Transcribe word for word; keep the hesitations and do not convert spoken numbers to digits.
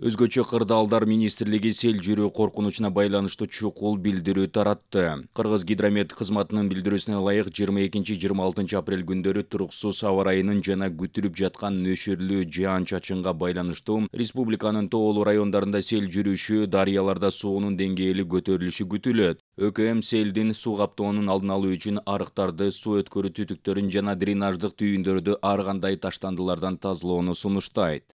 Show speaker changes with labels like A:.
A: Өзгөчө кырдаалдар министрлиги сел жүрүү коркунучуна байланыштуу чукул билдирүү таратты. Кыргыз гидромет кызматынын билдирүүсүнө ылайык жыйырма экинчи жыйырма алтынчы апрель күндөрү туруксуз аба ырайынын жана күтүлүп жаткан нөшөрлүү жаан-чачынга байланыштуу республиканын тоолуу райондарында сел жүрүшү, дарыяларда суунун деңгээли көтөрүлүшү күтүлөт. ӨКМ селдин суу каптоонун алдын алуу үчүн арыктарды, суу өткөрүү түтүктөрүн жана дренаждык түйүндөрдү ар кандай таштандылардан тазалоону сунуштайт.